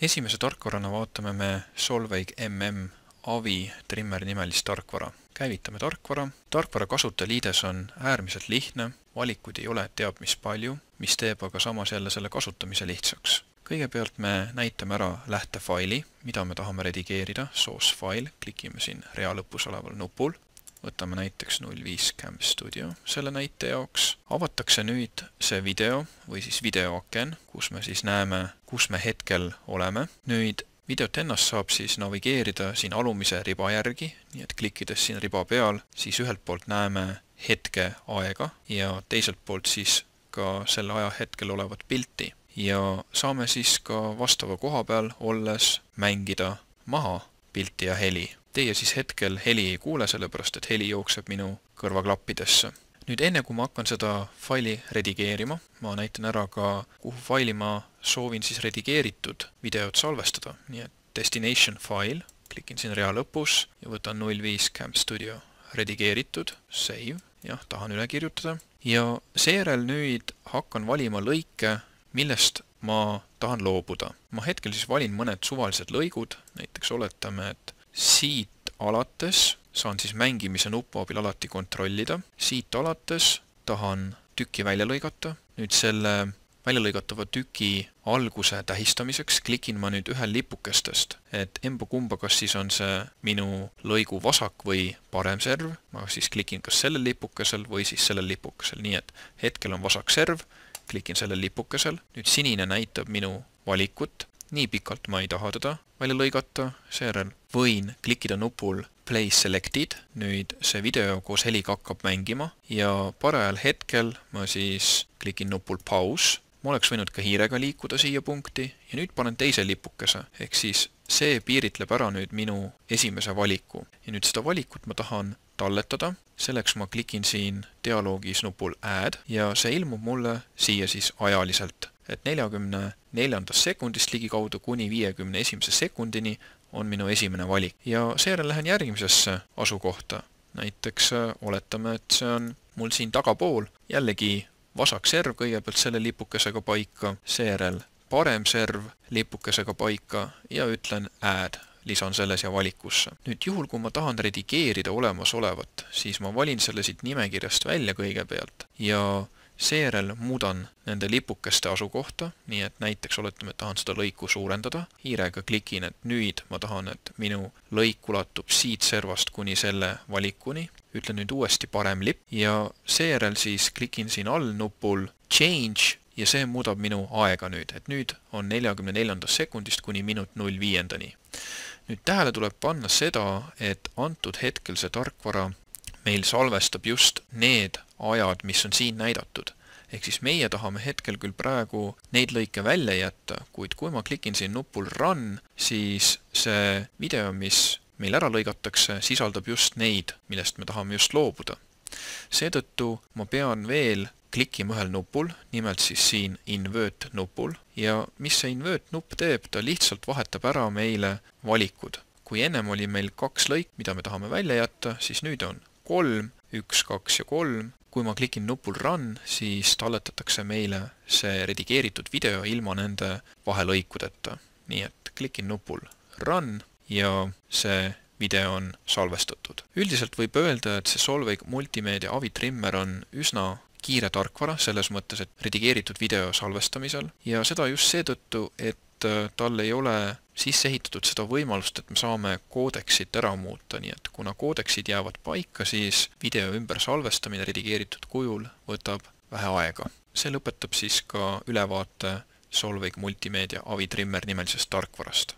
Esimese tarkvarana vaatame me Solveig MM Avi Trimmer nimelist tarkvara. Käivitame tarkvara. Tarkvara kasutajaliides on äärmiselt lihtne, valikuid ei ole teab mis palju, mis teeb aga samas jälle selle kasutamise lihtsaks. Kõigepealt me näitame ära lähtefaili, mida me tahame redigeerida, source file, klikime siin rea lõpus oleval nupul. Võtame näiteks 05 Cam Studio selle näite jaoks. Avatakse nüüd see video või siis videoaken, kus me siis näeme, kus me hetkel oleme. Nüüd videot ennast saab siis navigeerida siin alumise riba järgi, nii et klikkides siin riba peal, siis ühelt poolt näeme hetke aega ja teiselt poolt siis ka selle aja hetkel olevat pilti. Ja saame siis ka vastava koha peal olles mängida maha pilti ja heli. Teie siis hetkel heli ei kuule, sellepärast et heli jookseb minu kõrvaklappidesse. Nüüd enne kui ma hakkan seda faili redigeerima, ma näitan ära ka, kuhu faili ma soovin siis redigeeritud videot salvestada. Nii et destination file, klikin siin rea lõpus ja võtan 05 Cam Studio redigeeritud, save, jah, tahan üle kirjutada. Ja seejärel nüüd hakkan valima lõike, millest ma tahan loobuda. Ma hetkel siis valin mõned suvalised lõigud, näiteks oletame, et siit alates saan siis mängimise nupu abil alati kontrollida. Siit alates tahan tükki välja lõigata. Nüüd selle välja lõigatava tüki alguse tähistamiseks klikin ma nüüd ühel lipukestest, et emba-kumba, kas siis on see minu lõigu vasak või parem serv. Ma siis klikin kas sellel lipukesel või siis sellel lipukesel. Nii et hetkel on vasak serv, klikin sellel lipukesel. Nüüd sinine näitab minu valikut. Nii pikalt ma ei taha teda välja lõigata, seejärel võin klikkida nupul Play Selected, nüüd see video koos heliga hakkab mängima ja parajal hetkel ma siis klikin nupul Pause. Ma oleks võinud ka hiirega liikuda siia punkti ja nüüd panen teise lipukese, ehk siis see piiritleb ära nüüd minu esimese valiku. Ja nüüd seda valikut ma tahan talletada, selleks ma klikin siin dialoogis nupul Add ja see ilmub mulle siia siis ajaliselt. Et 44. sekundist ligikaudu kuni 51. sekundini on minu esimene valik. Ja seejärel lähen järgmisesse asukohta. Näiteks oletame, et see on mul siin tagapool. Jällegi vasak serv kõigepealt selle lipukesega paika, seejärel parem serv lipukesega paika ja ütlen Add, lisan selle siia valikusse. Nüüd juhul, kui ma tahan redigeerida olemasolevat, siis ma valin selle siit nimekirjast välja kõigepealt ja seejärel muudan nende lipukeste asukohta, nii et näiteks oletame, et tahan seda lõiku suurendada. Hiirega klikin, et nüüd ma tahan, et minu lõik ulatub siit servast kuni selle valikuni. Ütlen nüüd uuesti parem lipp ja seejärel siis klikin siin all nupul Change ja see muudab minu aega nüüd, et nüüd on 44. sekundist kuni minut 05. Nüüd tähele tuleb panna seda, et antud hetkel see tarkvara meil salvestab just need ajad, mis on siin näidatud. Ehk siis meie tahame hetkel küll praegu neid lõike välja jätta, kuid kui ma klikin siin nupul Run, siis see video, mis meil ära lõigatakse, sisaldab just neid, millest me tahame just loobuda. Seetõttu ma pean veel klikkima ühel nupul, nimelt siis siin Invert nupul ja mis see Invert nupp teeb, ta lihtsalt vahetab ära meile valikud. Kui ennem oli meil 2 lõik, mida me tahame välja jätta, siis nüüd on 3, 1, 2 ja 3. Kui ma klikin nupul Run, siis talletatakse meile see redigeeritud video ilma nende vahelõikudeta. Nii et klikin nupul Run ja see video on salvestatud. Üldiselt võib öelda, et see Solveig Multimeedia Avi Trimmer on üsna kiire tarkvara, selles mõttes, et redigeeritud video salvestamisel ja seda just seetõttu, et tal ei ole sisse ehitatud seda võimalust, et me saame koodeksit ära muuta, nii et kuna koodeksid jäävad paika, siis video ümber salvestamine redigeeritud kujul võtab vähe aega. See lõpetab siis ka ülevaate Solveig Multimeedia Avi Trimmer nimelisest tarkvarast.